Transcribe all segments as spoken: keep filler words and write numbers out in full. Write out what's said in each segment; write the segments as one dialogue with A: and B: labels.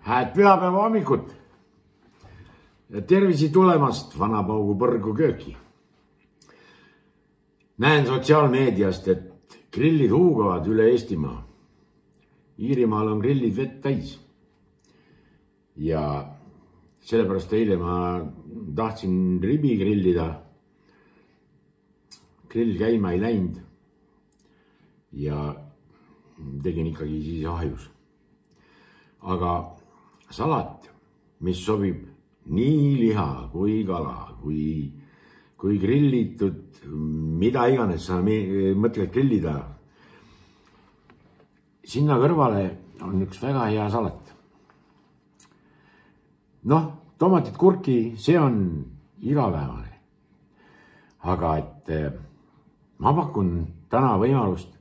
A: Hääd pühapäeva hommikut ja tervisi tulemast Vanapaugu põrgu kööki. Näen sotsiaalmeediast, et grillid huugavad üle Eestimaa. Iirimaal on grillid vett täis. Ja sellepärast eile ma tahtsin ribi grillida. Grill käima ei läinud ja tegin ikkagi siis ahjus. Aga salat, mis sobib nii liha kui kala, kui, kui grillitud, mida iganes sa mõtled grillida. Sinna kõrvale on üks väga hea salat. Noh, tomatit, kurki, see on igapäevane. Aga et ma pakun täna võimalust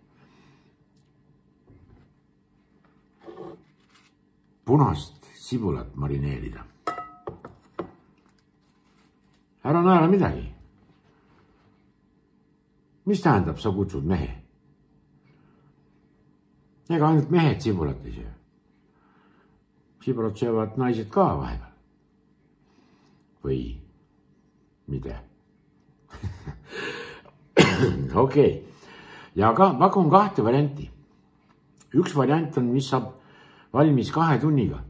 A: punast sibulat marineerida. Ära naera midagi. Mis tähendab, sa kutsud mehe? Ega ainult mehed sibulat ei söö. Sibulat söövad naised ka vahepeal. Või mida? Okei. Ja ka, pakun kahte varianti. Üks variant on, mis saab valmis kahe tunniga.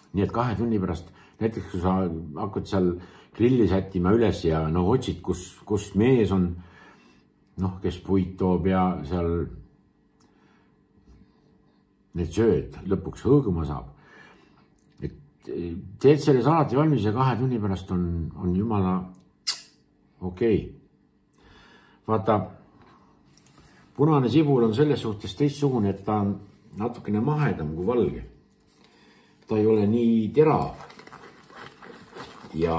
A: Nii et kahe tunni pärast, näiteks kui sa hakkad seal grilli sättima üles ja no otsid, kus, kus mees on, noh, kes puid toob ja seal need sööd lõpuks hõõguma saab. Et teed selle salati valmis ja kahe tunni pärast on, on jumala okei. Vaata, punane sibul on selles suhtes teistsugune, et ta on natukene mahedam kui valge. Ta ei ole nii terav ja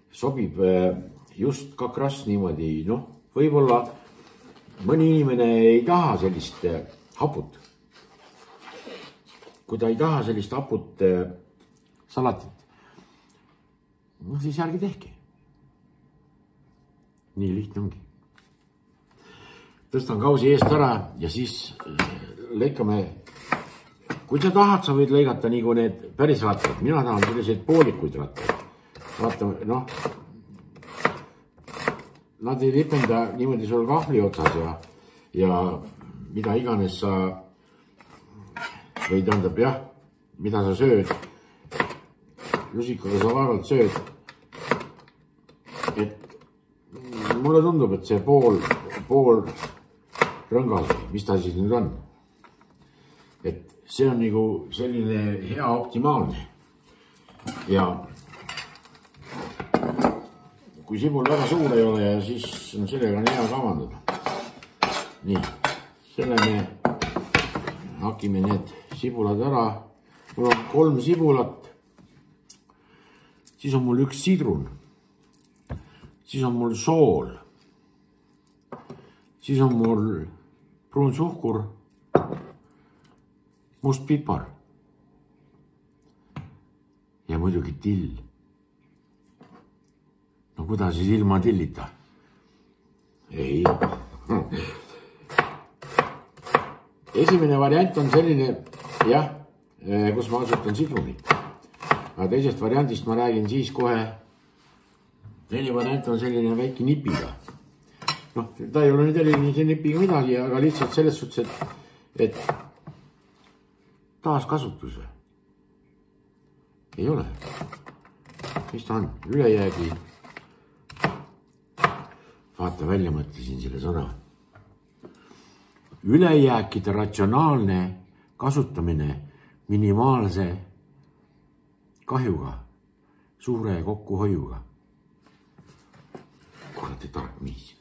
A: sobib just kakras niimoodi, noh, võib-olla mõni inimene ei taha sellist haput. Kui ta ei taha sellist haput salatit, noh, siis ärge tehke. Nii lihtne ongi. Tõstan kausi eest ära ja siis lõikame. Kui sa tahad, sa võid lõigata nagu need päris rattad. Mina tahan selliseid poolikuid rattad. Vaata, noh, nad ei lipenda niimoodi sul kahvli otsas ja, ja mida iganes sa või tähendab, jah, mida sa sööd. Lusikaga sa vaevalt sööd. Et mulle tundub, et see pool, pool rõngas, mis ta siis nüüd on. Et see on nagu selline hea optimaalne. Ja kui sibul väga suur ei ole, siis on sellega hea kavandada. Nii, selle me hakime need sibulad ära. Mul on kolm sibulat. Siis on mul üks sidrun. Siis on mul sool. Siis on mul pruun suhkur, must pipar ja muidugi till. No kuidas siis ilma tillita? Ei. Esimene variant on selline, jah, kus ma asutan sidrunit. Aga teisest variandist ma räägin siis kohe. Teine variant on selline väike nipiga. Noh, ta ei ole nüüd erilise nipiga midagi, aga lihtsalt selles suhtes, et, et taaskasutus ei ole. Mis ta on? Ülejäägi. Vaata, välja mõtlesin selle sõna. Ülejääkide ratsionaalne kasutamine minimaalse kahjuga, suure kokkuhoiuga. Kuradi tark miis.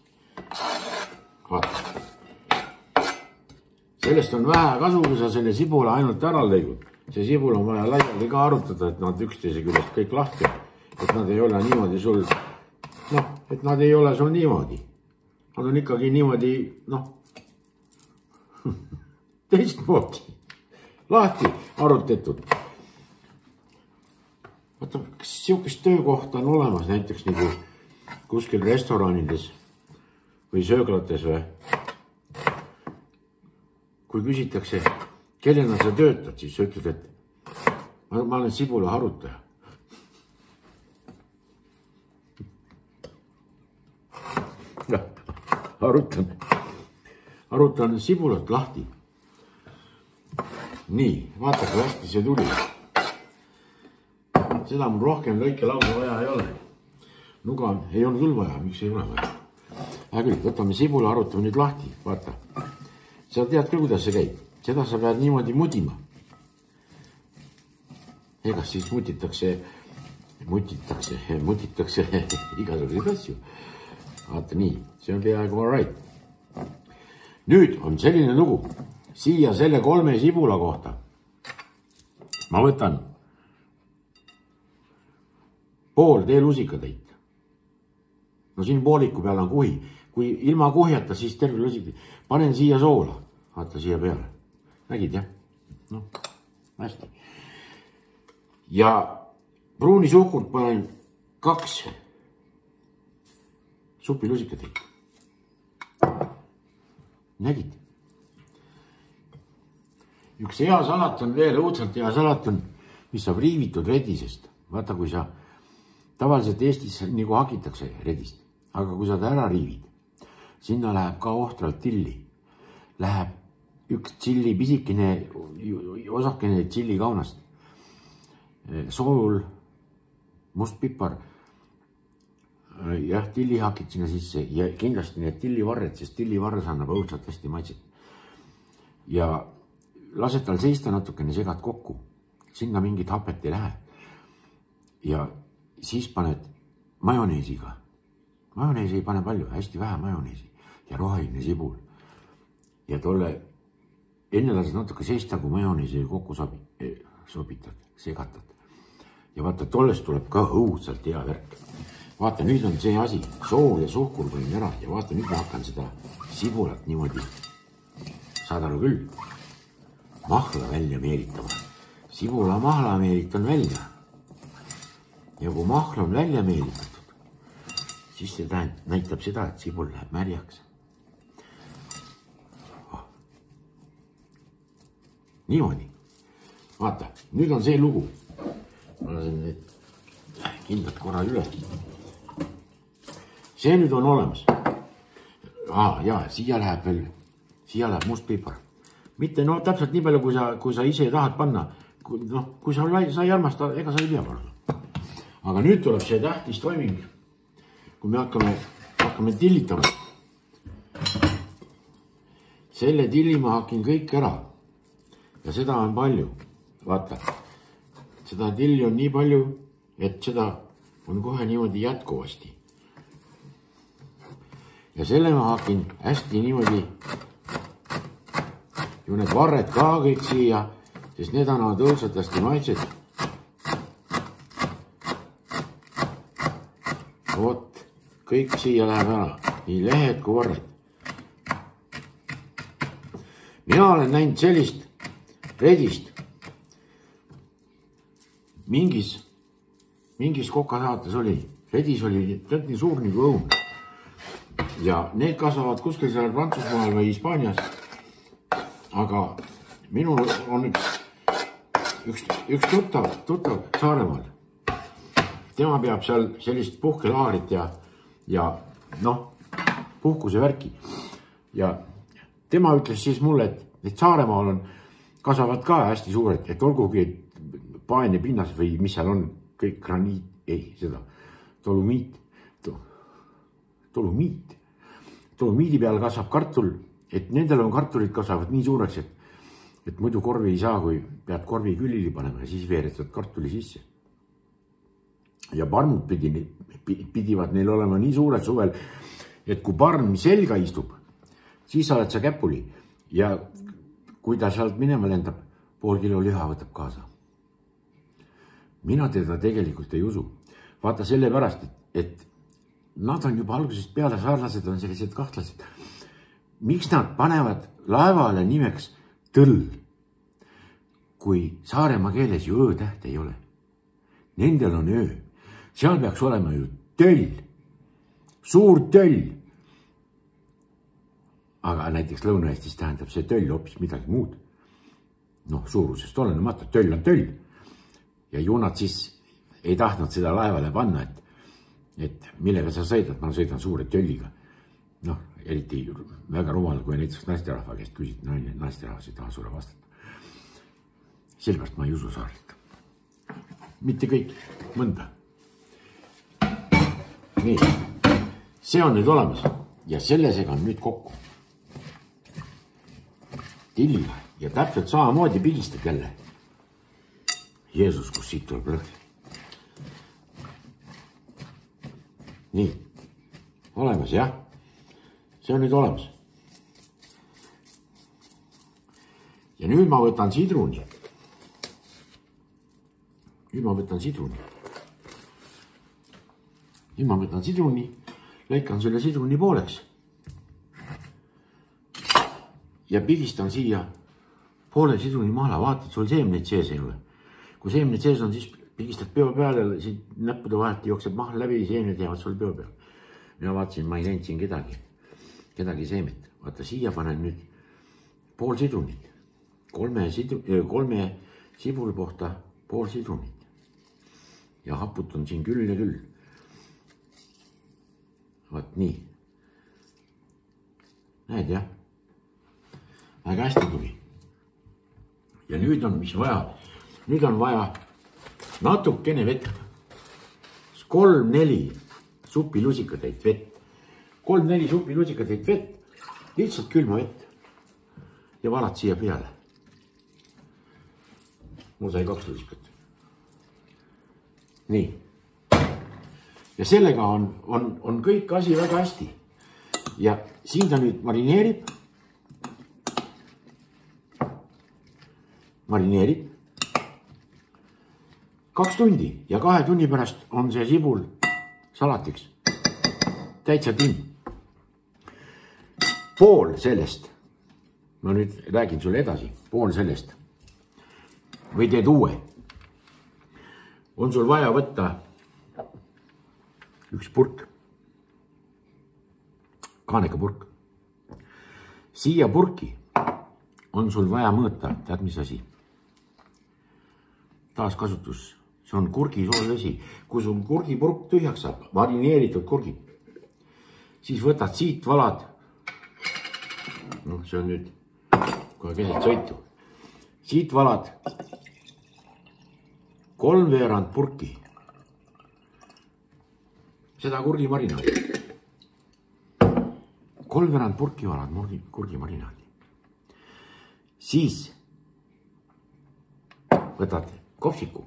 A: Vaata. Sellest on vähe kasu, kui sa selle sibula ainult ära lõigud. See sibul on vaja laiali ka arutada, et nad üksteise küljest kõik lahti. Et nad ei ole niimoodi sul, noh, et nad ei ole sul niimoodi. Nad on ikkagi niimoodi, noh, teistmoodi. Lahti arutetud. Vaata, kas siukest töökohta on olemas näiteks nagu kuskil restoranides või sööglates või? Kui küsitakse, kellena sa töötad, siis sa ütled, et ma, ma olen sibula harutaja. Harutan, harutan sibulat lahti. Nii, vaata, kui hästi see tuli. Seda mul rohkem lõike lausa vaja ei ole. Nuga ei olnud küll vaja, miks ei ole vaja. Hea küll, võtame sibula, harutame nüüd lahti, vaata. Sa tead küll, kuidas see käib. Seda sa pead niimoodi mudima. Egas siis mutitakse, mutitakse, mutitakse igasuguseid asju. Vaata nii, see on peaaegu all right. Nüüd on selline lugu. Siia selle kolme sibula kohta ma võtan pool teelusikatäit. No siin pooliku peal on kuhi. Kui ilma kuhjata, siis terve lusik. Panen siia soola. Vaata siia peale. Nägid, jah? No, hästi. Ja pruuni suhkurt panen kaks supilusikatäit. Nägid? Üks hea salat on veel, õudselt hea salat on, mis saab riivitud redisest. Vaata, kui sa tavaliselt Eestis nagu hakitakse redist, aga kui sa ta ära riivid, sinna läheb ka ohtralt tilli. Läheb üks tšilli pisikene, osakene tšilli kaunast, sool, mustpipar, jah, tillihakid sinna sisse ja kindlasti need tillivarred, sest tillivarres annab õudselt hästi maitset. Ja lased tal seista natukene, segad kokku. Sinna mingit hapet ei lähe. Ja siis paned majoneesiga. Majoneesi ei pane palju, hästi vähe majoneesi. Ja roheline sibul. Ja tolle enne lased natuke seista, kui majoneesi kokku sobitad, segatad. Ja vaata, tollest tuleb ka õudselt hea värk. Vaata, nüüd on see asi. Sool ja suhkur panin ära. Ja vaata, nüüd ma hakkan seda sibulat niimoodi. Saad aru küll. Mahla välja meelitama. Sibula mahla meelitan välja. Ja kui mahla on välja meelitatud, siis see näitab seda, et sibul läheb märjaks. Oh. Niimoodi. Vaata, nüüd on see lugu. Ma lasen need kindlad korra üle. See nüüd on olemas. Ah, jaa, siia läheb veel, siia läheb mustpipar. Mitte no täpselt nii palju, kui sa, kui sa ise tahad panna. Kui, no, kui sa, sa ei armasta, ega sa ei pea panna. Aga nüüd tuleb see tähtis toiming. Kui me hakkame, hakkame tillitama. Selle tilli ma hakin kõik ära. Ja seda on palju. Vaata. Seda tilli on nii palju, et seda on kohe niimoodi jätkuvasti. Ja selle ma hakin hästi niimoodi ju need varred ka kõik siia, sest need annavad õudselt hästi maitset. Vot, kõik siia läheb ära, nii lehed kui varred. Mina olen näinud sellist redist mingis, mingis kokasaates oli. Redis oli nii suur nagu õun. Ja need kasvavad kuskil seal Prantsusmaal või Hispaanias. Aga minul on üks, üks, üks tuttav, tuttav Saaremaal. Tema peab seal sellist puhkelaarit ja, ja noh, puhkuse värki. Ja tema ütles siis mulle, et, et Saaremaal on, kasvavad ka hästi suured, et olgugi paene pinnas või mis seal on, kõik graniit, ei, seda, tolumiit, tolumiit. Tolumiidi peal kasvab kartul. Et nendel on kartulid kasvavad nii suureks, et, et muidu korvi ei saa, kui pead korvi külili panema ja siis veeretad kartuli sisse. Ja parmud pidi, pidivad neil olema nii suured suvel, et kui parm selga istub, siis oled sa käpuli. Ja kui ta sealt minema lendab, pool kilo liha võtab kaasa. Mina teda tegelikult ei usu. Vaata selle pärast, et, et nad on juba algusest peale saarlased on sellised kahtlased. Miks nad panevad laevale nimeks tõll, kui Saaremaa keeles ju öö täht ei ole? Nendel on öö. Seal peaks olema ju töll, suur töll. Aga näiteks Lõuna-Eestis tähendab see töll hoopis midagi muud. noh, suurusest olenemata, töll on töll. Ja ju nad siis ei tahtnud seda laevale panna, et, et millega sa sõidad, ma sõidan suure tölliga. Noh, eriti väga rumal, kui näiteks naisterahva käest küsid, naine, naisterahvas ei taha sulle vastata. Sellepärast ma ei usu saarelt. Mitte kõik, mõnda. Nii, see on nüüd olemas ja selle segan nüüd kokku. Tilliga ja täpselt samamoodi pigistad jälle. Jeesus, kus siit tuleb lõhn. Nii, olemas jah. See on nüüd olemas. Ja nüüd ma võtan sidruni. Nüüd ma võtan sidruni. Nüüd ma võtan sidruni, lõikan selle sidruni pooleks. Ja pigistan siia poole sidruni maale, vaatad, sul seemneid sees ei ole. Kui seemneid sees on, siis pigistad peo peale, siit näppude vahelt jookseb mahl läbi, seemneid jäävad sul peo peale. Mina vaatasin, ma ei näinud siin kedagi, kedagi seemet. Vaata, siia panen nüüd pool sidrunit. Kolme, sidru, kolme sibul kohta pool sidrunit. Ja haputan siin küll ja küll. Vaat nii. Näed jah? Väga hästi tuli. Ja nüüd on, mis vaja? Nüüd on vaja natukene vett. Kolm, neli supilusikatäit vett. Kolm, neli supilusikatäit vett. Lihtsalt külma vett. Ja valad siia peale. Mul sai kaks lusikat. Nii. Ja sellega on, on, on kõik asi väga hästi. Ja siin ta nüüd marineerib. Marineerib. Kaks tundi ja kahe tunni pärast on see sibul salatiks. Täitsa timm. Pool sellest. Ma nüüd räägin sulle edasi. Pool sellest. Või teed uue. On sul vaja võtta üks purk, kaanekapurk. Siia purki on sul vaja mõõta, tead mis asi? Taaskasutus, see on kurgisoolvesi. Kui sul kurgipurk tühjaks saab, marineeritud kurgi, siis võtad siit valad, noh, see on nüüd kohe keset sõitu, siit valad kolmveerand purki. Seda kurgi marinaadi. Kolmveerand purki valad kurgi marinaadi. Siis võtad kopsiku.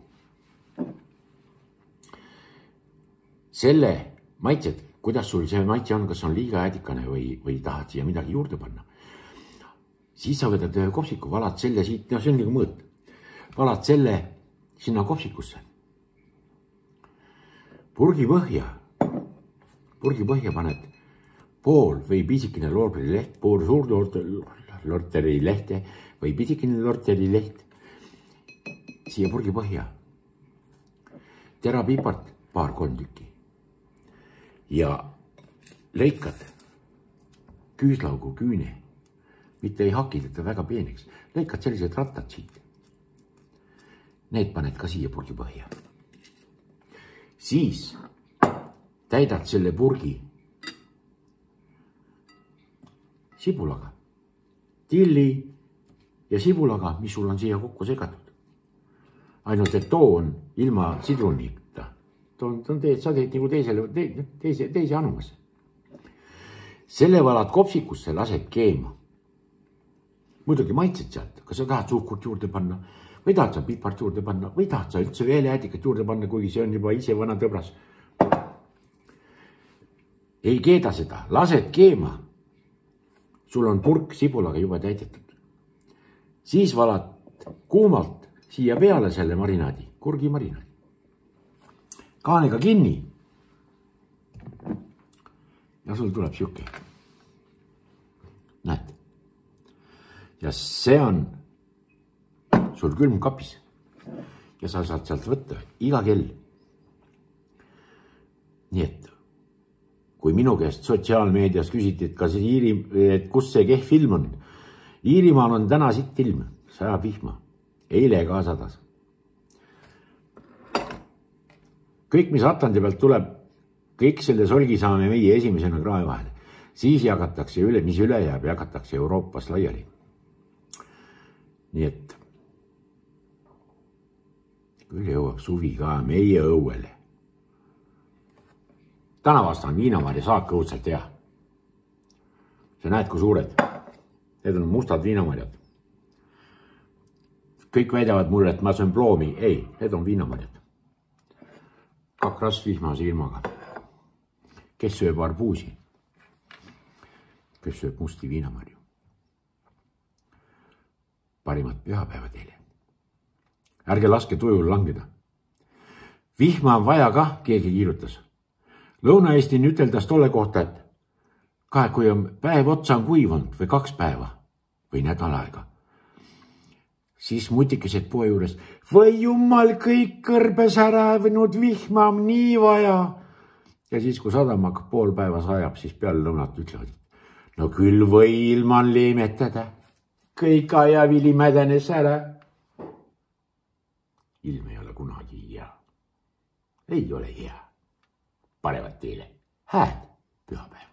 A: Selle maitsed, kuidas sul see maitse on, kas on liiga äädikane või, või tahad siia midagi juurde panna. Siis sa võtad ühe kopsiku, valad selle siit, no see on nagu mõõt. Valad selle sinna kopsikusse. Purgi põhja. Purgi põhja paned pool või pisikene loorberi leht, pool suur lorteri lehte või pisikene lorteri leht. Siia purgi põhja. Terapipart paar-kolm tükki. Ja lõikad küüslaugu küüne. Mitte ei haki teda väga peeneks. Lõikad sellised rattad siit. Need paned ka siia purgi põhja. Siis täidad selle purgi sibulaga, tilli ja sibulaga, mis sul on siia kokku segatud. Ainult, et too on ilma sidrunita. Too on teed, sa teed nagu teisele, teise, teise anumasse. Selle valad kopsikusse, lased keema. Muidugi maitsed sealt, kas sa tahad suhkurt juurde panna või tahad sa pipart juurde panna või tahad sa üldse veel äädikat juurde panna, kuigi see on juba ise vana tõbras. Ei keeda seda, lased keema. Sul on purk sibulaga juba täidetud. Siis valad kuumalt siia peale selle marinaadi, kurgi marinaadi. Kaanega kinni. Ja sul tuleb siuke. Näed. Ja see on sul külmkapis. Ja sa saad sealt võtta iga kell. Nii et kui minu käest sotsiaalmeedias küsiti, et, kas Iiri, et kus see kehv film on. Iirimaal on täna sitt ilm, sajab vihma. eile ka sadas. kõik, mis Atlandi pealt tuleb, kõik selle solgi saame meie esimesena krae vahele. Siis jagatakse üle, mis üle jääb, jagatakse Euroopas laiali. Nii et küll jõuab suvi ka meie õuele. Tänavast on viinamarja saak õudselt hea. Sa näed, kui suured. Need on mustad viinamarjad. Kõik väidavad mulle, et ma söön ploomi. Ei, need on viinamarjad. Kakras vihmase ilmaga. Kes sööb arbuusi? Kes sööb musti viinamarju? Parimat pühapäeva teile. Ärge laske tujul langeda. Vihma on vaja kah, keegi kiirutas. Lõuna-Eesti üteldas tolle kohta, et kahe, kui on päev otsa on kuivanud või kaks päeva või nädal aega, siis mutikesed poe juures, või jumal kõik kõrbes ära võinud, vihma on nii vaja. Ja siis, kui sadam hakkab pool päeva sajab, siis peale lõunat ütlevad, no küll või ilman leemetada, kõik ajavili mädenes ära. Ilm ei ole kunagi hea. Ei ole hea. Parevat teile hääd pühapäeva.